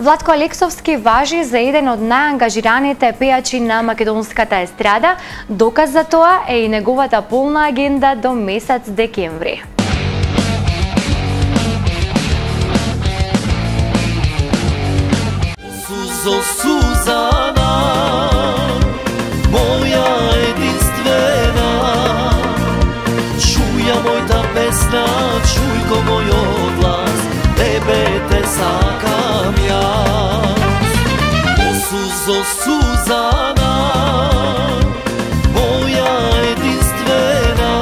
Владко Алексовски важи за еден од најангажираните пејачи на македонската естрада. Доказ за тоа е и неговата полна агенда до месец декември. Сузо Сузана, моја единствена, чуја мојта песна, чуј го мојот глас, тебе те сакам јас. О Сузо Сузана, моја единствена,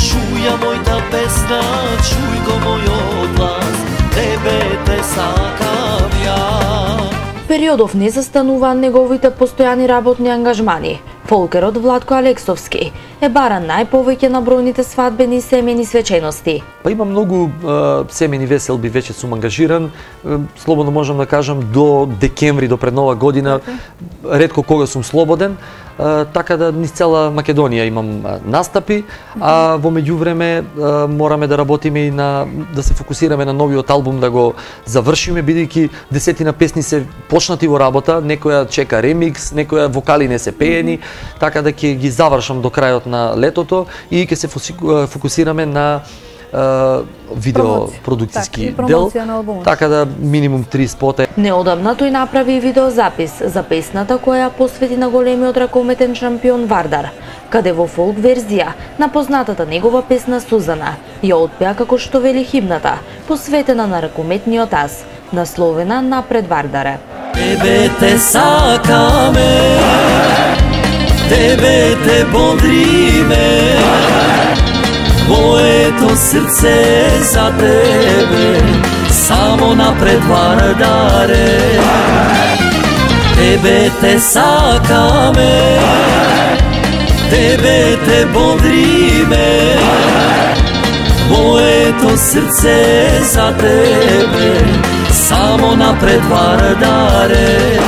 чуја мојта песна, чуј го мојот глас, тебе те сакам јас. Периодов не застануваат неговите постојани работни ангажмани. Фолкерот Владко Алексовски е баран најповеќе на бројните свадбени и семејни свечености. Па има многу семејни веселби, веќе сум ангажиран. Слободно можам да кажам до декември, до пред нова година, ретко кога сум слободен. Така да низ цела Македонија имам настапи, а во меѓувреме мораме да работиме и да се фокусираме на новиот албум, да го завршиме, бидејќи десетина песни се почнати во работа, некоја чека ремикс, некоја вокали не се пеени, така да ќе ги завршам до крајот на летото и ќе се фокусираме на видео продукцијски дел, така да минимум 3 спота. Неодамна тој направи видеозапис за песната која ја посвети на големиот ракометен шампион Вардар, каде во фолк верзија на познатата негова песна Сузана ја отпеа како што вели химната, посветена на ракометниот ас, насловена Напред Вардаре. Тебе те сакаме, тебе те бодриме, моето срце за тебе, само напред Вардаре. Тебе те сакаме, тебе те бодриме, моето срце за тебе, само напред Вардаре.